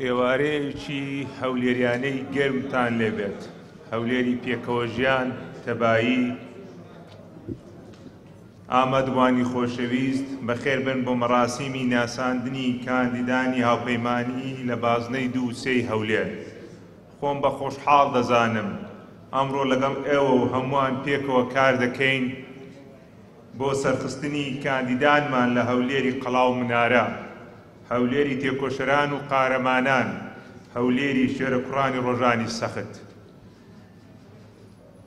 ئێوارەیەکی هەولێریانەی گەرمتان لێبێت، هەولێری پێکەوەژیان، تەبایی، ئامادبوانی خۆشەویست، بەخێربێن بۆ مەراسیمی ناساندنی کاندیدانی هاوپەیمانی لە بازنەی دوو و سێی هەولێر. خۆم بە خۆشحاڵ دەزانم ئەمڕۆ لەگەڵ ئێوە و هەمووان پێکەوە کار دەکەین بۆ سەرخستنی کاندیدانمان لە هەولێری قەڵا و منارە، هەولێری تێکۆشەران و قارەمانان، هەولێری شێرەکوڕانی ڕۆژانی سەخت.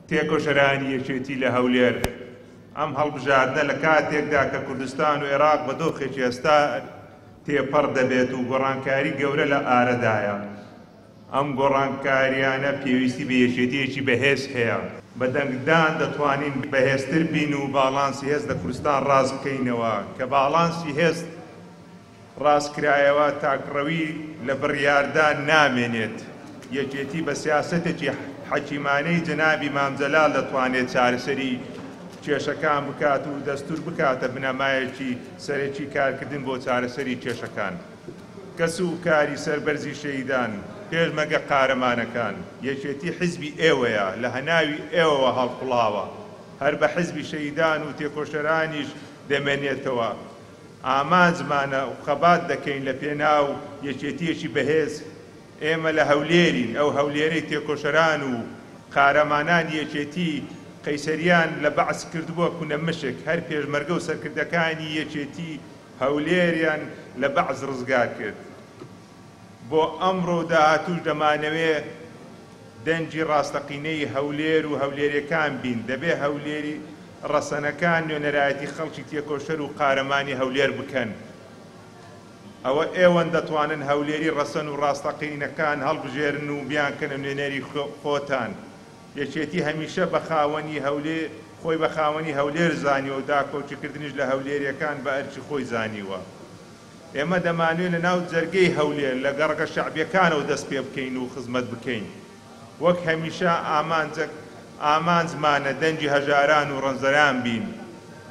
تێکۆشەرانی یەکێتی لە هەولێر، ئەم هەڵبژاردنە لە کاتێکدا کە کوردستان و ئێراق بە دۆخێکی هەستار تێپەڕ دەبێت و گۆڕانکاری گەورە لە ئارەدایە، ئەم گۆڕانکارییانە پێویستی بە یەکێتییەکی بەهێز هەیە. بە دەنگدان دەتوانین بەهێزتر بین و باڵانسی هێز لە کوردستان ڕاست بکەینەوە، کە باڵانسی هێز ڕاستکرایەوە تاکڕەوی لە بڕیاردان نامێنێت. یەکێتی بە سیاسەتێکی حەکیمانەی جەنابی مام جەلال دەتوانێت چارەسەری کێشەکان بکات و دەستور بکاتە بنەمایەکی سەرەکی کارکردن بۆ چارەسەری کێشەکان. کەس و کاری سەربەرزی شەهیدان، پێشمەرگە قارەمانەکان، یەکێتی حیزبی ئێوەیە، لە هەناوی ئێوەوە هەڵقوڵاوە، هەر بە حیزبی شەهیدان و تێکۆشەرانیش دەمێنێتەوە. ئامانجمانە و خەبات دەکەین لە پێناو یەکێتییەکی بەهێز، ئێمە لە هەولێرین، ئەو هەولێرەی تێکۆشەران و قارەمانانی یەکێتی قەیسەریان لە بەعس کردبووە کونە مشک، هەر پێشمەرگە و سەرکردەکانی یەکێتی هەولێریان لە بەعس ڕزگار کرد. بۆ ئەمڕۆ و داهاتووش دەمانەوێ دەنگی ڕاستەقینەی هەولێر و هەولێریەکان بین، دەبێ هەولێری ڕەسەنەکان نوێنەرایەتی خەڵکی تێکۆشەر و قارەمانی هەولێر بکەن. ئەوە ئێوەن دەتوانن هەولێری ڕەسەن و ڕاستەقینەکان هەڵبژێرن و بیانکەنە نوێنەری خۆتان. یەکێتی هەمیشە بە خاوەنی هەولێ خۆی بە خاوەنی هەولێر زانیوە و داکۆکیکردنیش لە هەولێریەکان بە ئەرکی خۆی زانیوە. ئێمە دەمانوێ لە ناو جەرگەی هەولێر لە گەڕەکە شەعبیەکانەوە دەست پێ بکەین و خزمەت بکەین. وەک هەمیشە ئامانجەک ئامانجمانە دەنگی هەژاران و ڕەنجدەران بین،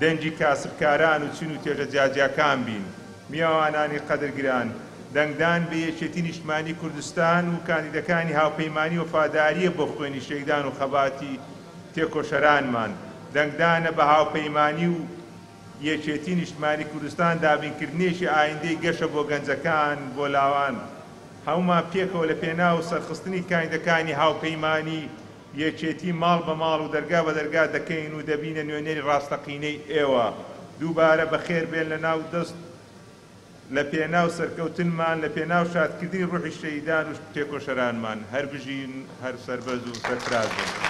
دەنگی کاسبکاران و چین و توێژە جیاجیاکان بین. میوانانی قەدرگران، دەنگدان بە یەکێتی نیشتمانی کوردستان و کاندیدەکانی هاوپەیمانی وەفادارییە بۆ خوێنی شەهیدان و خەباتی تێکۆشەرانمان. دەنگدانە بە هاوپەیمانی و یەکێتی نیشتمانی کوردستان دابینکردنێکی ئایندەی گەشە بۆ گەنجەکان، بۆ لاوان. هەموومان پێکەوە لە پێناو سەرخستنی کاندیدەکانی هاوپەیمانی یەکێتی ماڵ بە ماڵ و دەرگا بە دەرگا دەکەین و دەبینە نوێنەری ڕاستەقینەی ئێوە. دووبارە بەخێر بێن لە ناو دەست لە پێناو سەرکەوتنمان، لە پێناو شادکردنی ڕوحی شەهیدان و تێکۆشەرانمان. هەر بژین، هەر سەربەرز و سەرفراز بن.